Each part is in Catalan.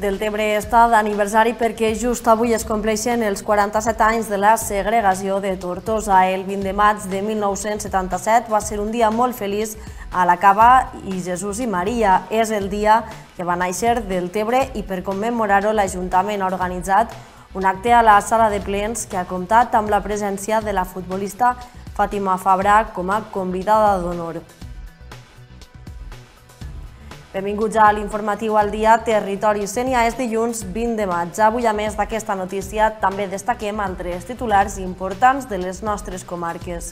Deltebre està d'aniversari perquè just avui es compleixen els 47 anys de la segregació de Tortosa. El 20 de maig de 1977 va ser un dia molt feliç a la Cava i Jesús i Maria. És el dia que va néixer Deltebre i per commemorar-ho l'Ajuntament ha organitzat un acte a la sala de plens que ha comptat amb la presència de la futbolista Fàtima Fabra com a convidada d'honor. Benvinguts a l'informatiu al dia Territori Sénia. És dilluns 20 de maig. Avui, a més d'aquesta notícia, també destaquem altres titulars importants de les nostres comarques.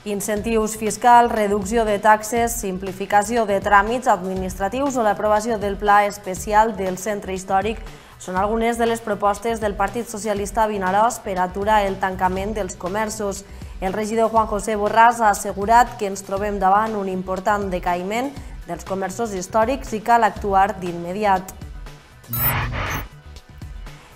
Incentius fiscals, reducció de taxes, simplificació de tràmits administratius o l'aprovació del pla especial del centre històric són algunes de les propostes del Partit Socialista a Vinaròs per aturar el tancament dels comerços. El regidor Juan José Borràs ha assegurat que ens trobem davant un important decaïment dels comerços històrics i cal actuar d'immediat.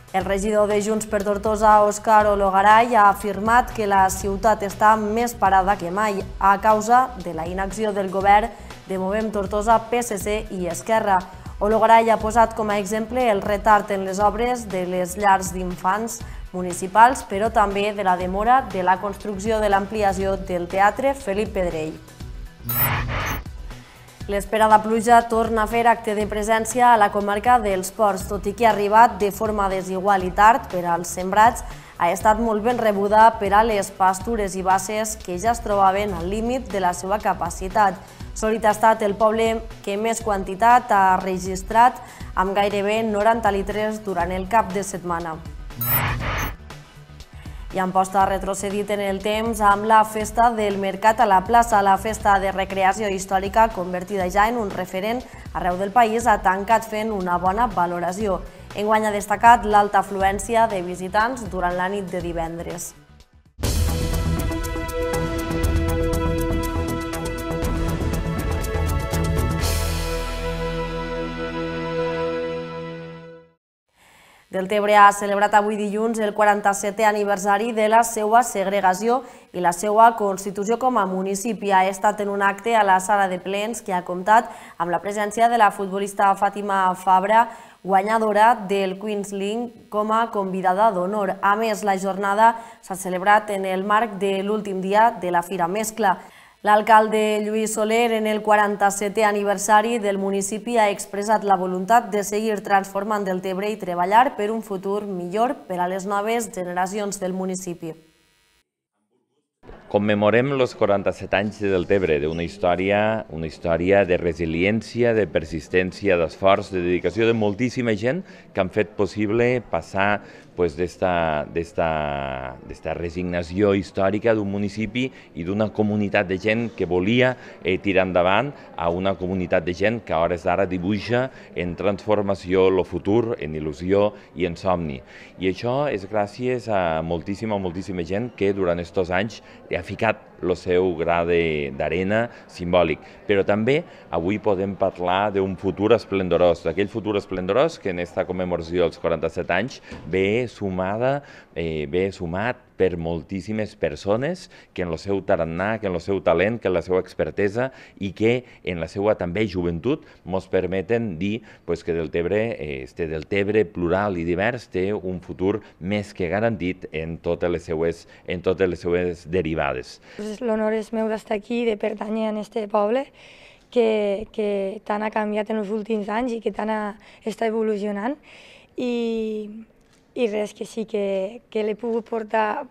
El regidor de Junts per Tortosa, Òscar Ologaray, ha afirmat que la ciutat està més parada que mai a causa de la inacció del govern de Movem Tortosa, PSC i Esquerra. Ologaray ha posat com a exemple el retard en les obres de les llars d'infants municipals, però també de la demora de la construcció de l'ampliació del Teatre Felip Pedrell. L'esperada pluja torna a fer acte de presència a la comarca dels Ports. Tot i que ha arribat de forma desigual i tard per als sembrats, ha estat molt ben rebuda per a les pastures i basses que ja es trobaven al límit de la seva capacitat. Solit ha estat el poble que més quantitat ha registrat, amb gairebé 90 litres durant el cap de setmana. I Amposta ha retrocedit en el temps amb la festa del Mercat a la plaça. La festa de recreació històrica, convertida ja en un referent arreu del país, ha tancat fent una bona valoració. Enguany ha destacat l'alta afluència de visitants durant la nit de divendres. Deltebre ha celebrat avui dilluns el 47è aniversari de la seva segregació i la seva constitució com a municipi. Ha estat en un acte a la sala de plens que ha comptat amb la presència de la futbolista Fàtima Fabra, guanyadora del Queens League, com a convidada d'honor. A més, la jornada s'ha celebrat en el marc de l'últim dia de la Fira Mescla. L'alcalde Lluís Soler, en el 47è aniversari del municipi, ha expressat la voluntat de seguir transformant Deltebre i treballar per un futur millor per a les noves generacions del municipi. Commemorem els 47 anys de Deltebre, d'una història de resiliència, de persistència, d'esforç, de dedicació de moltíssima gent que han fet possible passar d'esta resignació històrica d'un municipi i d'una comunitat de gent que volia tirar endavant a una comunitat de gent que a hores d'ara dibuixa en transformació el futur, en il·lusió i en somni. I això és gràcies a moltíssima gent que durant aquests anys ha ficat el seu gra d'arena simbòlic. Però també avui podem parlar d'un futur esplendorós, d'aquell futur esplendorós que en aquesta commemoració dels 47 anys ve sumat per moltíssimes persones que en el seu tarannà, que en el seu talent, que en la seva expertesa i que en la seva també joventut ens permeten dir que Deltebre plural i divers té un futur més que garantit en totes les seues derivades. L'honor és meu d'estar aquí, de pertànyer a aquest poble que tant ha canviat en els últims anys i que tant està evolucionant. I res, que sí, que l'he pogut portar,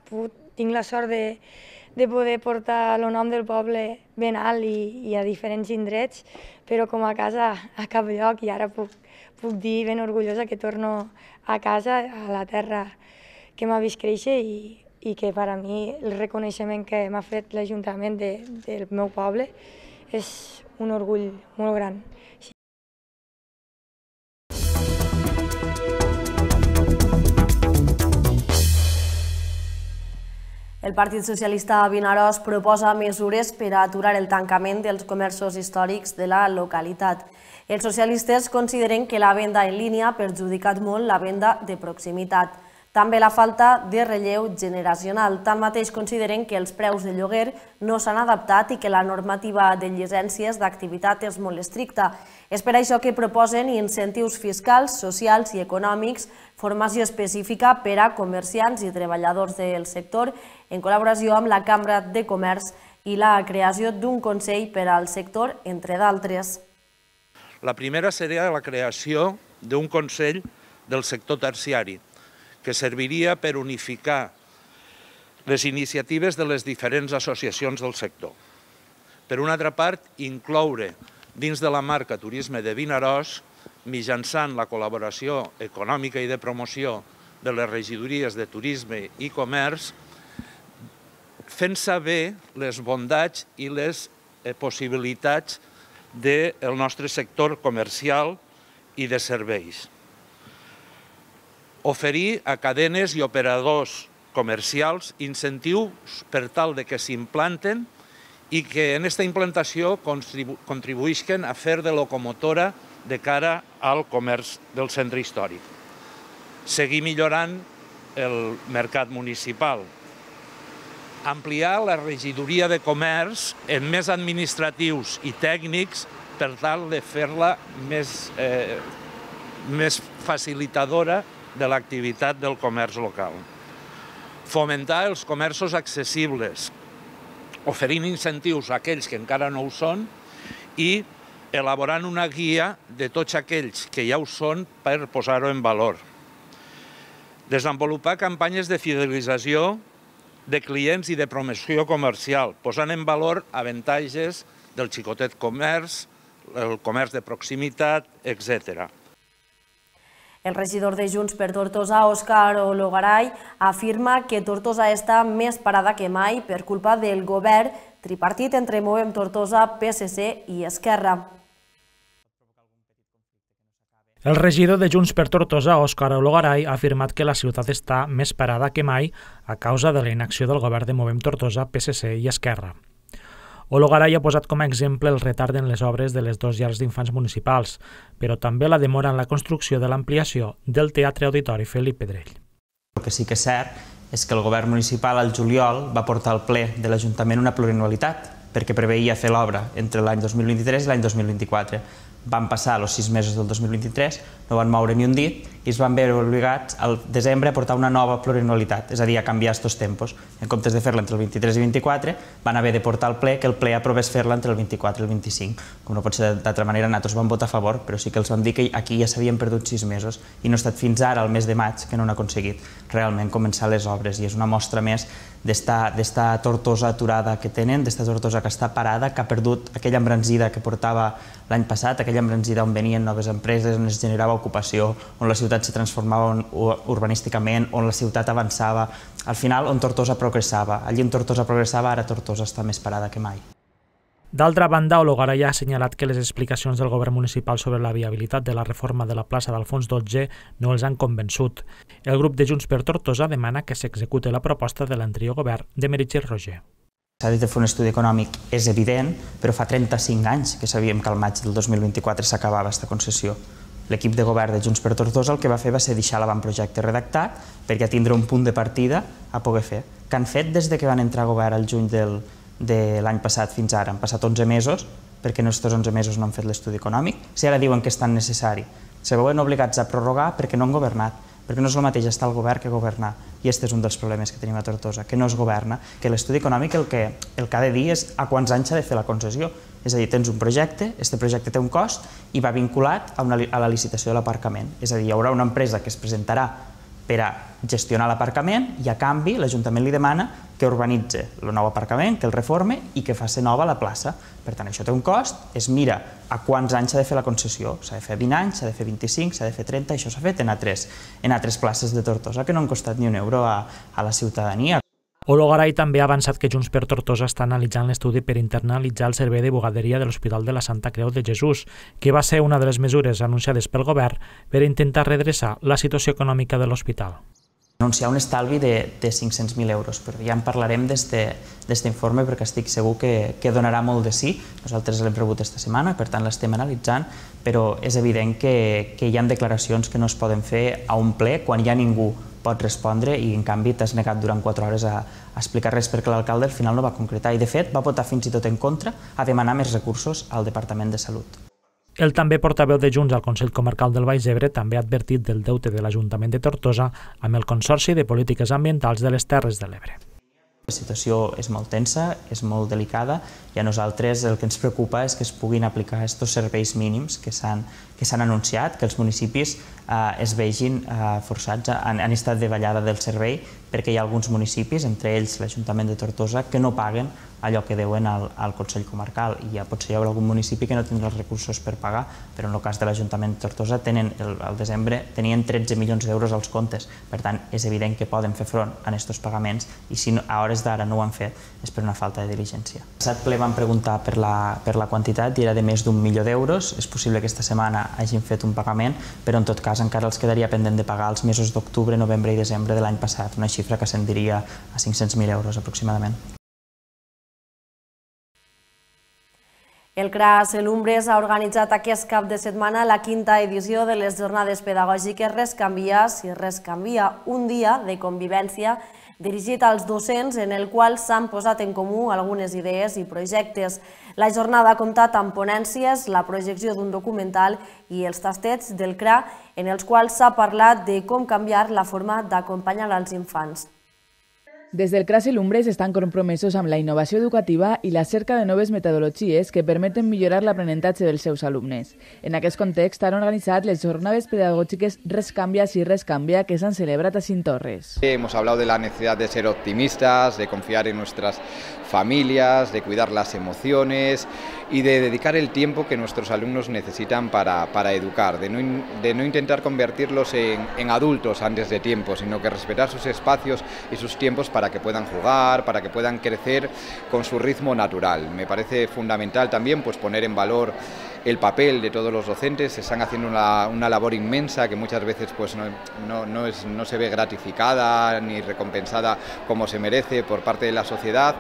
tinc la sort de poder portar el nom del poble ben alt i a diferents indrets, però com a casa a cap lloc, i ara puc dir ben orgullosa que torno a casa, a la terra que m'ha vist créixer i que per a mi el reconeixement que m'ha fet l'Ajuntament del meu poble és un orgull molt gran. El Partit Socialista a Vinaròs proposa mesures per a aturar el tancament dels comerços històrics de la localitat. Els socialistes consideren que la venda en línia ha perjudicat molt la venda de proximitat. També la falta de relleu generacional. Tanmateix consideren que els preus de lloguer no s'han adaptat i que la normativa de llicències d'activitat és molt estricta. És per això que proposen incentius fiscals, socials i econòmics, formació específica per a comerciants i treballadors del sector, en col·laboració amb la Cambra de Comerç i la creació d'un Consell per al sector, entre d'altres. La primera seria la creació d'un Consell del sector terciari, que serviria per unificar les iniciatives de les diferents associacions del sector. Per una altra part, incloure dins de la marca Turisme de Vinaròs, mitjançant la col·laboració econòmica i de promoció de les regidories de Turisme i Comerç, fent saber les bondats i les possibilitats del nostre sector comercial i de serveis. Oferir a cadenes i operadors comercials incentius per tal que s'implanten i que en aquesta implantació contribuïsquen a fer de locomotora de cara al comerç del centre històric. Seguir millorant el mercat municipal. Ampliar la regidoria de comerç en més administratius i tècnics per tal de fer-la més facilitadora de l'activitat del comerç local. Fomentar els comerços accessibles, oferint incentius a aquells que encara no ho són i elaborant una guia de tots aquells que ja ho són per posar-ho en valor. Desenvolupar campanyes de fidelització de clients i de promoció comercial, posant en valor avantatges del xicotet comerç, el comerç de proximitat, etc. El regidor de Junts per Tortosa, Òscar Ologaray, afirma que Tortosa està més parada que mai per culpa del govern tripartit entre Movem Tortosa, PSC i Esquerra. El regidor de Junts per Tortosa, Òscar Ologaray, ha afirmat que la ciutat està més parada que mai a causa de la inacció del govern de Movem Tortosa, PSC i Esquerra. Ologaray ha posat com a exemple el retard en les obres de les 2 llars d'infants municipals, però també la demora en la construcció de l'ampliació del Teatre Auditori Felip Pedrell. El que sí que és cert és que el govern municipal al juliol va portar al ple de l'Ajuntament una plurianualitat perquè preveia fer l'obra entre l'any 2023 i l'any 2024. Van passar els 6 mesos del 2023, no van moure ni un dit i es van veure obligats al desembre a portar una nova plurianualitat, és a dir, a canviar aquests tempos. En comptes de fer-la entre el 23 i el 24, van haver de portar al ple que el ple aprovés fer-la entre el 24 i el 25. Com no pot ser d'altra manera, nosaltres vam votar a favor, però sí que els vam dir que aquí ja s'havien perdut 6 mesos i no ha estat fins ara, al mes de maig, que no han aconseguit realment començar les obres. I és una mostra més d'esta Tortosa aturada que tenen, d'esta Tortosa que està parada, que ha perdut aquella embranzida que portava l'any passat, aquella embranzida on venien noves empreses, on es generava ocupació, on la ciutat se transformava urbanísticament, on la ciutat avançava. Al final, on Tortosa progressava. Allí on Tortosa progressava, ara Tortosa està més parada que mai. D'altra banda, Ologaray ha assenyalat que les explicacions del govern municipal sobre la viabilitat de la reforma de la plaça d'Alfons XII no els han convençut. El grup de Junts per Tortosa demana que s'execute la proposta de l'anterior govern de Meritxell Roger. S'ha de fer un estudi econòmic, és evident, però fa 35 anys que sabíem que al maig del 2024 s'acabava aquesta concessió. L'equip de govern de Junts per Tortosa el que va fer va ser deixar l'avantprojecte redactat perquè tindre un punt de partida a poder fer. Que han fet des que van entrar a govern al juny de l'any passat fins ara. Han passat 11 mesos, perquè en aquests 11 mesos no han fet l'estudi econòmic. Si ara diuen que és tan necessari, se veuen obligats a prorrogar perquè no han governat, perquè no és el mateix estar al govern que governar. I aquest és un dels problemes que tenim a Tortosa, que no es governa, que l'estudi econòmic el que ha de dir és a quants anys s'ha de fer la concessió. És a dir, tens un projecte, aquest projecte té un cost i va vinculat a la licitació de l'aparcament. És a dir, hi haurà una empresa que es presentarà per a gestionar l'aparcament i a canvi l'Ajuntament li demana que urbanitzi el nou aparcament, que el reforme i que faci nova la plaça. Per tant, això té un cost, es mira a quants anys s'ha de fer la concessió. S'ha de fer 20 anys, s'ha de fer 25, s'ha de fer 30, això s'ha fet en altres places de Tortosa que no han costat ni un euro a la ciutadania. Ologaray també ha avançat que Junts per Tortosa està analitzant l'estudi per internalitzar el servei de bugaderia de l'Hospital de la Santa Creu de Jesús, que va ser una de les mesures anunciades pel govern per intentar redreçar la situació econòmica de l'hospital. Anunciar un estalvi de 500.000 euros, però ja en parlarem d'aquest informe perquè estic segur que donarà molt de sí. Nosaltres l'hem rebut aquesta setmana, per tant l'estem analitzant, però és evident que hi ha declaracions que no es poden fer a un ple quan hi ha ningú pots respondre i en canvi t'has negat durant 4 hores a explicar res perquè l'alcalde al final no va concretar i de fet va votar fins i tot en contra a demanar més recursos al Departament de Salut. El també portaveu de Junts al Consell Comarcal del Baix Ebre també ha advertit del deute de l'Ajuntament de Tortosa amb el Consorci de Polítiques Ambientals de les Terres de l'Ebre. La situació és molt tensa, és molt delicada i a nosaltres el que ens preocupa és que es puguin aplicar aquests serveis mínims que s'han anunciat, que els municipis es vegin forçats en estat de ballada del servei perquè hi ha alguns municipis, entre ells l'Ajuntament de Tortosa, que no paguen allò que deuen al Consell Comarcal i ja potser hi haurà algun municipi que no tindrà els recursos per pagar, però en el cas de l'Ajuntament de Tortosa al desembre tenien 13 milions d'euros als comptes, per tant és evident que poden fer front a aquests pagaments i si a hores d'ara no ho han fet és per una falta de diligència. El passat ple van preguntar per la quantitat i era de més d'1 milió d'euros, és possible que aquesta setmana hagin fet un pagament, però en tot cas encara els quedaria pendent de pagar els mesos d'octubre, novembre i desembre de l'any passat, una xifra que ascendiria a 500.000 euros aproximadament. El CRAS Lumbres ha organitzat aquest cap de setmana la 5a edició de les jornades pedagògiques Rescanvia si res canvia, un dia de convivència dirigit als docents en el qual s'han posat en comú algunes idees i projectes. La jornada ha comptat amb ponències, la projecció d'un documental i els tastets del CRA en els quals s'ha parlat de com canviar la forma d'acompanyar als infants. Des del CRAS Lumbres estan compromesos amb la innovació educativa i la cerca de noves metodologies que permeten millorar l'aprenentatge dels seus alumnes. En aquest context han organitzat les jornades pedagògiques Rescanvia si res canvia que s'han celebrat a Cintorres. Hemos hablado de la necesidad de ser optimistas, de confiar en nuestras familias, de cuidar las emociones y de dedicar el tiempo que nuestros alumnos necesitan para educar, de no intentar convertirlos en adultos antes de tiempo, sino que respetar sus espacios y sus tiempos para que puedan jugar, para que puedan crecer con su ritmo natural. Me parece fundamental también poner en valor el papel de todos los docentes. Están haciendo una labor inmensa que muchas veces no se ve gratificada ni recompensada como se merece por parte de la sociedad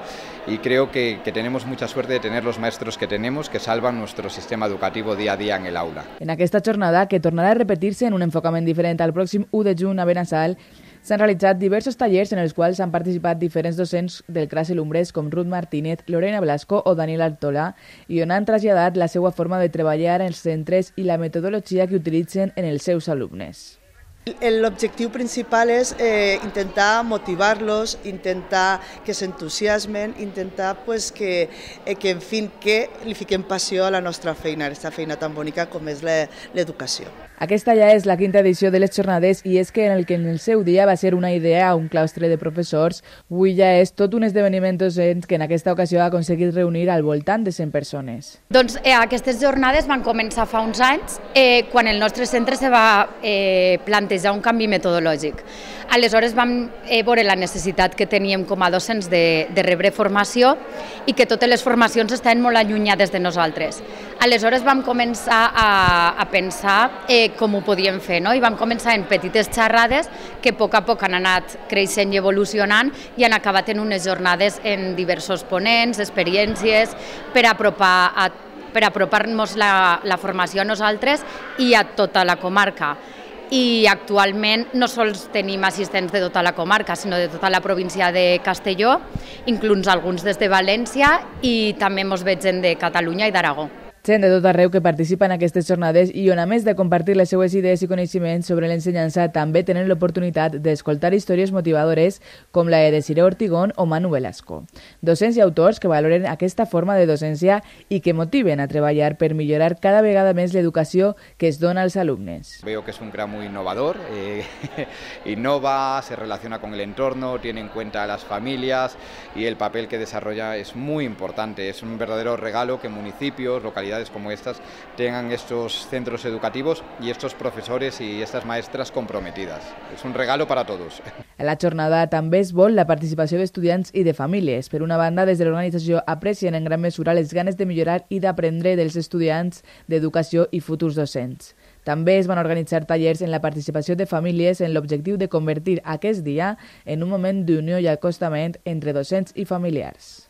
y creo que tenemos mucha suerte de tener los maestros que tenemos que salvan nuestro sistema educativo día a día en el aula. En aquesta jornada, que tornarà a repetir-se en un enfocament diferent al pròxim 1 de juny a Benassal, s'han realitzat diversos tallers en els quals han participat diferents docents del CRAS Lumbres com Ruth Martínez, Lorena Blasco o Daniel Artola i on han traslladat la seva forma de treballar en els centres i la metodologia que utilitzen en els seus alumnes. L'objectiu principal és intentar motivar-los, intentar que s'entusiasmen, intentar que li fiquem passió a la nostra feina, a aquesta feina tan bonica com és l'educació. Aquesta ja és la 5a edició de les jornades i és que en el seu dia va ser una idea a un claustre de professors, avui ja és tot un esdeveniment docent que en aquesta ocasió ha aconseguit reunir al voltant de 100 persones. Doncs aquestes jornades van començar fa uns anys quan el nostre centre se va plantejar un canvi metodològic. Aleshores vam veure la necessitat que teníem com a docents de rebre formació i que totes les formacions estaven molt allunyades de nosaltres. Aleshores vam començar a pensar com ho podíem fer, i vam començar en petites xerrades que a poc han anat creixent i evolucionant i han acabat en unes jornades en diversos ponents, experiències, per apropar-nos la formació a nosaltres i a tota la comarca. I actualment no sols tenim assistents de tota la comarca, sinó de tota la província de Castelló, inclús alguns des de València i també ens veig gent de Catalunya i d'Aragó. Gent de tot arreu que participa en aquestes jornades i on, a més de compartir les seues idees i coneixements sobre l'ensenyança, també tenen l'oportunitat d'escoltar històries motivadores com la de Desiree Ortigón o Manu Velasco. Docents i autors que valoren aquesta forma de docència i que motiven a treballar per millorar cada vegada més l'educació que es dona als alumnes. Veo que es un CRA muy innovador, innova, se relaciona con el entorno, tiene en cuenta a las familias y el papel que desarrolla es muy importante. Es un verdadero regalo que municipios, localidades como estas tengan estos centros educativos y estos profesores y estas maestras comprometidas. Es un regalo para todos. A la jornada també es vol la participació d'estudiants i de famílies. Per una banda, des de l'organització aprecien en gran mesura les ganes de millorar i d'aprendre dels estudiants d'educació i futurs docents. També es van organitzar tallers en la participació de famílies en l'objectiu de convertir aquest dia en un moment d'unió i acostament entre docents i familiars.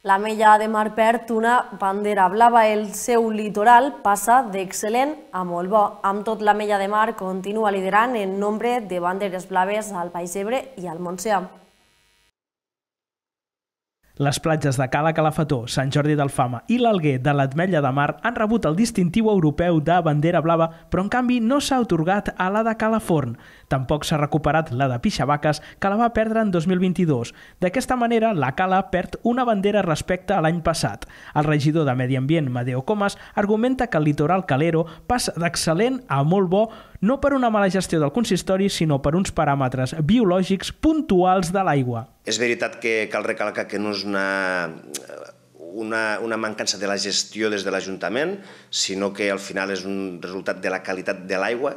L'Ametlla de Mar perd una bandera blava. El seu litoral passa d'excel·lent a molt bo. Amb tot, l'Ametlla de Mar continua liderant en nombre de banderes blaves al Baix Ebre i al Montsià. Les platges de Cala Calafató, Sant Jordi d'Alfama i l'Alguer de l'Ametlla de Mar han rebut el distintiu europeu de bandera blava, però en canvi no s'ha atorgat a la de Calaforn. Tampoc s'ha recuperat la de Pixavaques, que la va perdre en 2022. D'aquesta manera, la Cala perd una bandera respecte a l'any passat. El regidor de Medi Ambient, Madeo Comas, argumenta que el litoral calero passa d'excel·lent a molt bo, no per una mala gestió del consistori, sinó per uns paràmetres biològics puntuals de l'aigua. És veritat que cal recalcar que no és una mancança de la gestió des de l'Ajuntament, sinó que al final és un resultat de la qualitat de l'aigua.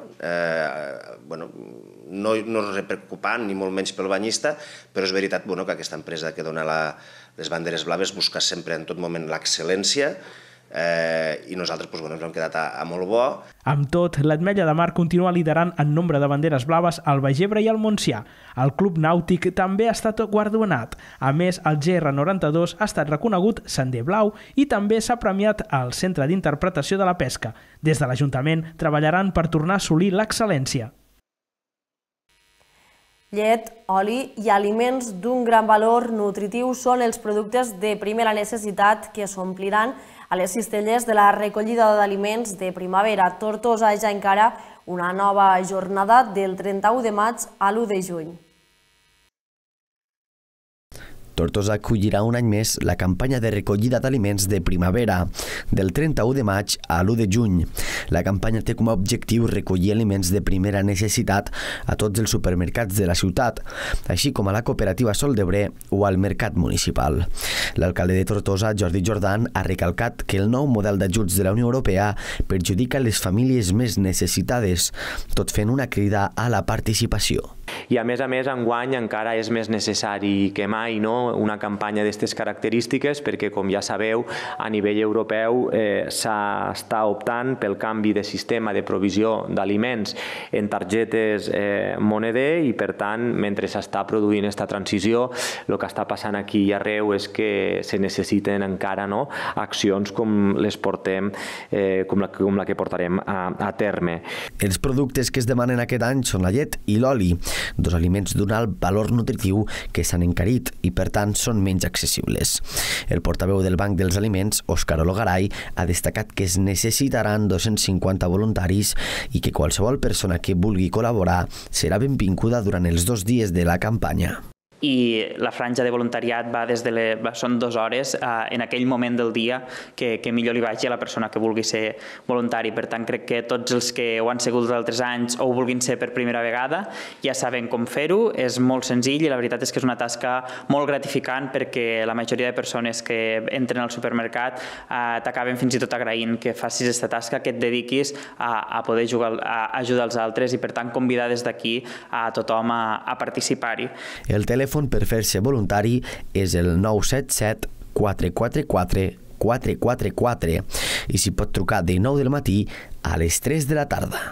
No és preocupant, ni molt menys pel banyista, però és veritat que aquesta empresa que dona les banderes blaves busca sempre en tot moment l'excel·lència, i nosaltres ens hem quedat a molt bo. Amb tot, l'Ametlla de Mar continua liderant en nombre de banderes blaves al Baix Ebre i al Montsià. El Club Nàutic també ha estat guardonat. A més, el GR92 ha estat reconegut Sender Blau i també s'ha premiat al Centre d'Interpretació de la Pesca. Des de l'Ajuntament treballaran per tornar a assolir l'excel·lència. Llet, oli i aliments d'un gran valor nutritiu són els productes de primera necessitat que s'ompliran a les cistelles de la recollida d'aliments de primavera. Tortosa ja encara una nova jornada del 31 de maig a l'1 de juny. Tortosa acollirà un any més la campanya de recollida d'aliments de primavera, del 31 de maig a l'1 de juny. La campanya té com a objectiu recollir aliments de primera necessitat a tots els supermercats de la ciutat, així com a la cooperativa Sol d'Ebre o al mercat municipal. L'alcalde de Tortosa, Jordi Jordan, ha recalcat que el nou model d'ajuts de la Unió Europea perjudica les famílies més necessitades, tot fent una crida a la participació. I a més, enguany encara és més necessari que mai una campanya d'aquestes característiques perquè, com ja sabeu, a nivell europeu s'està optant pel canvi de sistema de provisió d'aliments en targetes moneder i, per tant, mentre s'està produint aquesta transició, el que està passant aquí i arreu és que se necessiten encara accions com les portem, com la que portarem a terme. Els productes que es demanen aquest any són la llet i l'oli, dos aliments d'un alt valor nutritiu que s'han encarit i per tant són menys accessibles. El portaveu del Banc dels Aliments, Òscar Ologaray, ha destacat que es necessitaran 250 voluntaris i que qualsevol persona que vulgui col·laborar serà benvinguda durant els 2 dies de la campanya. I la franja de voluntariat són 2 hores en aquell moment del dia que millor li vagi a la persona que vulgui ser voluntari. Per tant, crec que tots els que ho han sigut d'altres anys o ho vulguin ser per primera vegada ja saben com fer-ho, és molt senzill i la veritat és que és una tasca molt gratificant perquè la majoria de persones que entren al supermercat t'acaben fins i tot agraint que facis aquesta tasca, que et dediquis a poder ajudar els altres i per tant convidar des d'aquí a tothom a participar-hi. El telèfon per fer-se voluntari és el 977 444 444 i s'hi pot trucar de 9 del matí a les 3 de la tarda.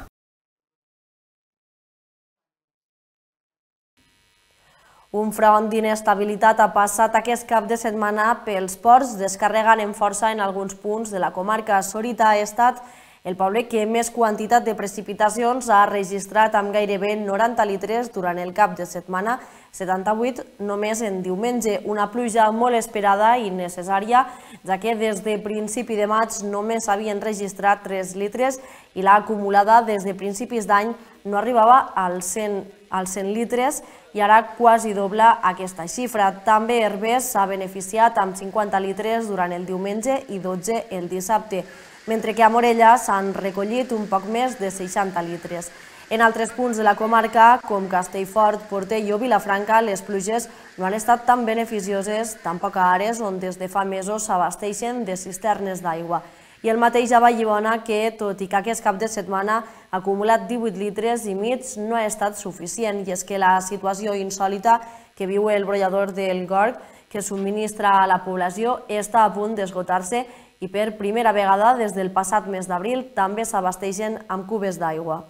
Un front d'inestabilitat ha passat aquest cap de setmana pels ports, descarregant en força en alguns punts de la comarca. Sorita ha estat el poble que més quantitat de precipitacions ha registrat amb gairebé 90 litres durant el cap de setmana, 78 només en diumenge. Una pluja molt esperada i necessària, ja que des de principi de maig només s'havien registrat 3 litres i l'acumulada des de principis d'any no arribava als 100 litres i ara quasi dobla aquesta xifra. També Herbers s'ha beneficiat amb 50 litres durant el diumenge i 12 el dissabte, mentre que a Morella s'han recollit un poc més de 60 litres. En altres punts de la comarca, com Castellfort, Portell o Vilafranca, les pluges no han estat tan beneficioses, tampoc a Ares, on des de fa mesos s'abasteixen de cisternes d'aigua. I el mateix a Vallibona, que, tot i que aquest cap de setmana ha acumulat 18 litres i mig, no ha estat suficient. I és que la situació insòlita que viu el brollador del Gorg, que subministra a la població, està a punt d'esgotar-se i per primera vegada des del passat mes d'abril també s'abasteixen amb cubes d'aigua.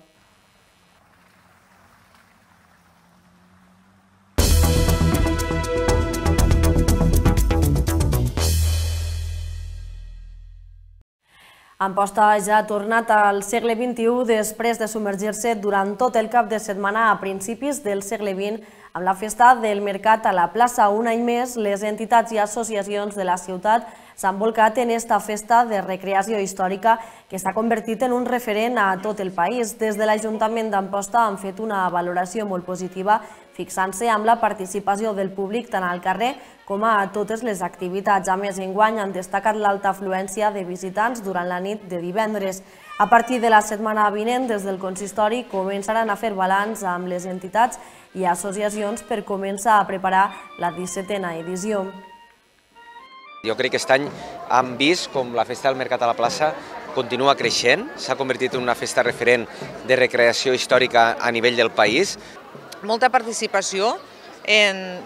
Amposta ja ha tornat al segle XXI després de submergir-se durant tot el cap de setmana a principis del segle XX amb la festa del mercat a la plaça. Un any més, les entitats i associacions de la ciutat s'han volcat en esta festa de recreació històrica que s'ha convertit en un referent a tot el país. Des de l'Ajuntament d'Amposta han fet una valoració molt positiva, fixant-se amb la participació del públic tant al carrer com a totes les activitats. A més, enguany han destacat l'alta afluència de visitants durant la nit de divendres. A partir de la setmana vinent, des del consistori, començaran a fer balanç amb les entitats i associacions per començar a preparar la 17a edició. Jo crec que aquest any hem vist com la Festa del Mercat a la plaça continua creixent, s'ha convertit en una festa referent de recreació històrica a nivell del país. Molta participació,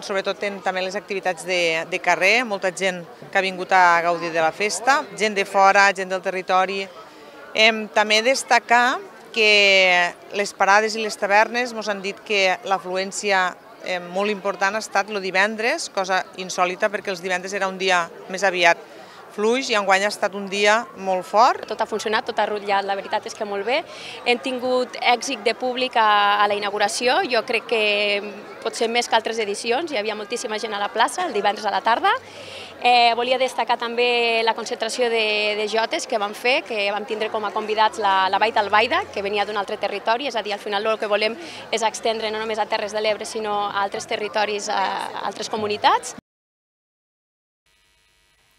sobretot en també les activitats de carrer, molta gent que ha vingut a gaudir de la festa, gent de fora, gent del territori. També destacar que les parades i les tavernes ens han dit que l'afluència molt important ha estat el divendres, cosa insòlita perquè els divendres era un dia més aviat fluix i enguany ha estat un dia molt fort. Tot ha funcionat, tot ha rutllat, la veritat és que molt bé. Hem tingut èxit de públic a la inauguració, jo crec que potser més que altres edicions, hi havia moltíssima gent a la plaça el divendres a la tarda. Volia destacar també la concentració de jotes que vam fer, que vam tindre com a convidats la Baita Albaida, que venia d'un altre territori, és a dir, al final el que volem és extendre no només a Terres de l'Ebre, sinó a altres territoris, a altres comunitats.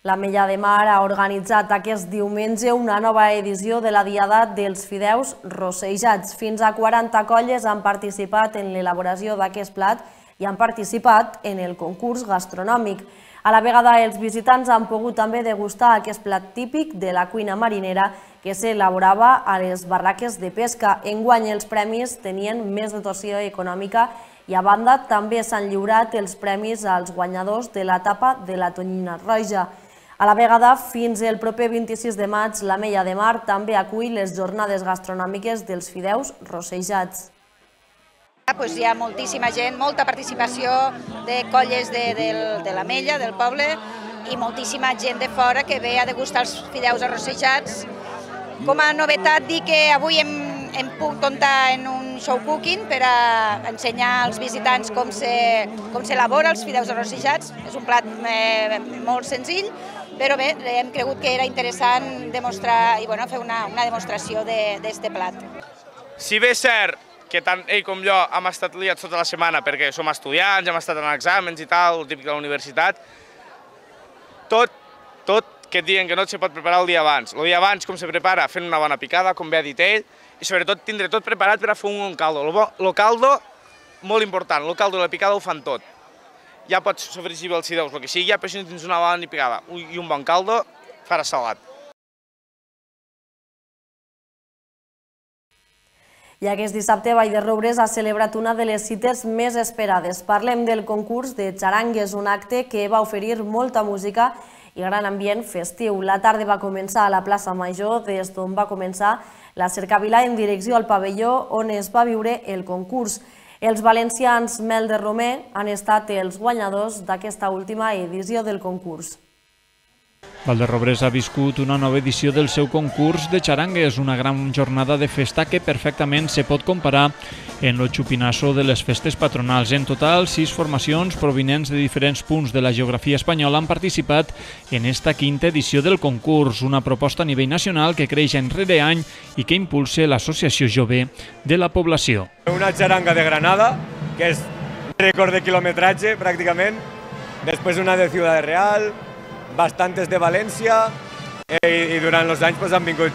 L'Ametlla de Mar ha organitzat aquest diumenge una nova edició de la Diada dels Fideus Rossejats. Fins a 40 colles han participat en l'elaboració d'aquest plat i han participat en el concurs gastronòmic. A la vegada, els visitants han pogut també degustar aquest plat típic de la cuina marinera que s'elaborava a les barraques de pesca. Enguany els premis tenien més dotació econòmica i a banda també s'han lliurat els premis als guanyadors de l'etapa de la tonyina roja. A la vegada, fins el proper 26 de maig, l'Ametlla de Mar també acull les jornades gastronòmiques dels fideus rossejats. Hi ha moltíssima gent, molta participació de colles de l'Ametlla, del poble, i moltíssima gent de fora que ve a degustar els fideus arrossejats. Com a novetat, dir que avui hem pogut comptar en un show cooking per a ensenyar als visitants com s'elabora els fideus arrossejats. És un plat molt senzill, però bé, hem cregut que era interessant demostrar i fer una demostració d'aquest plat. Si bé és cert que tant ell com jo hem estat liats tota la setmana perquè som estudiants, hem estat en exàmens i tal, el típic de la universitat, tot que et diuen que no se pot preparar el dia abans. El dia abans com se prepara? Fent una bona picada, com bé ha dit ell, i sobretot tindre tot preparat per a fer un caldo. El caldo, molt important, el caldo i la picada ho fan tot. Ja pots sofregir els fideus, el que sigui, però si no tens una bona picada i un bon caldo, faràs salat. I aquest dissabte, Vall de Roures ha celebrat una de les cites més esperades. Parlem del concurs de xarangues, un acte que va oferir molta música i gran ambient festiu. La tarda va començar a la plaça Major, des d'on va començar la cercavila en direcció al pavelló on es va viure el concurs. Els valencians Mel de Romer han estat els guanyadors d'aquesta última edició del concurs. Vall de Roures ha viscut una nova edició del seu concurs de xarangues, una gran jornada de festa que perfectament se pot comparar en el xupinasso de les festes patronals. En total, 6 formacions provinents de diferents punts de la geografia espanyola han participat en esta quinta edició del concurs, una proposta a nivell nacional que creix any rere any i que impulsa l'Associació Jove de la Població. Una xaranga de Granada, que és rècord de quilometratge pràcticament, després una de Ciudad Real, bastantes de València i durant els anys han vingut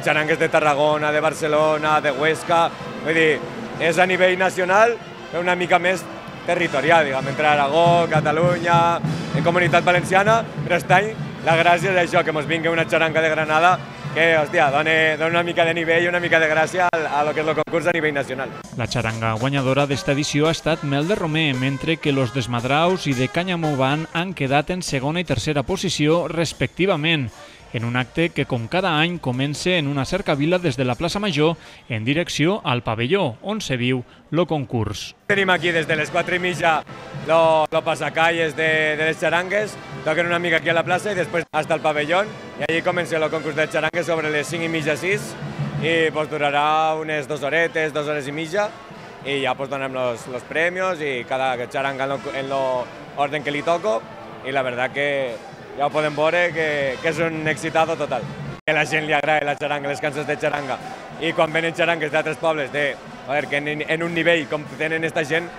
xarangues de Tarragona, de Barcelona, de Huesca, vull dir, és a nivell nacional però una mica més territorial, diguem, entre Aragó, Catalunya, en Comunitat Valenciana, però aquest any la gràcia és això, que ens vingui una xaranga de Granada que, hòstia, dona una mica de nivell i una mica de gràcia a lo que és el concurs a nivell nacional. La xaranga guanyadora d'esta edició ha estat Mel de Romer, mentre que los Desmadraus i de Canyamobán han quedat en segona i tercera posició respectivament. en un acte que, com cada any, comença en una cercavila des de la plaça Major en direcció al pavelló, on se viu el concurs. Tenim aquí des de les 4:30 el passacalles de les xarangues, toquen una mica aquí a la plaça i després hasta el pavelló, i allí comença el concurs de xarangues sobre les 5:30, 6, i durarà unes 2 horetes, 2 hores i mitja, i ja donem los premios i cada xaranga en l'ordre que li toco, i la veritat que ja ho podem veure que és un excitado total. Que a la gent li agrada la xaranga, les cançons de xaranga, i quan venen xarangues d'altres pobles, que en un nivell com tenen esta gent,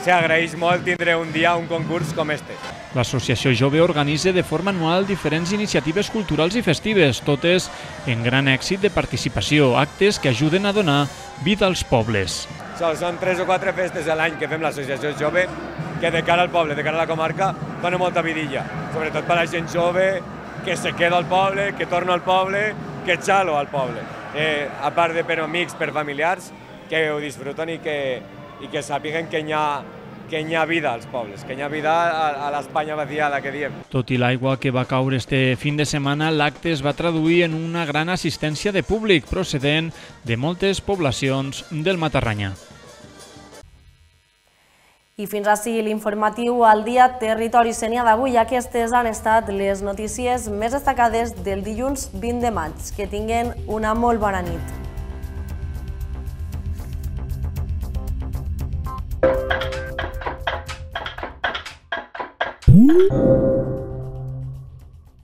s'agraeix molt tindre un dia un concurs com este. L'Associació Jove organitza de forma anual diferents iniciatives culturals i festives, totes en gran èxit de participació, actes que ajuden a donar vida als pobles. Són 3 o 4 festes a l'any que fem l'Associació Jove, que de cara al poble, de cara a la comarca, dona molta vidilla, sobretot per a la gent jove que se queda al poble, que torna al poble, que xalo al poble. A part de per amics, per familiars, que ho disfruten i que sàpiguen que hi ha vida als pobles, que hi ha vida a l'Espanya vaciada, que diem. Tot i l'aigua que va caure este fin de setmana, l'acte es va traduir en una gran assistència de públic procedent de moltes poblacions del Matarranya. I fins així l'informatiu al dia Territori Sénia d'avui. Aquestes han estat les notícies més destacades del dilluns 20 de maig. Que tinguen una molt bona nit.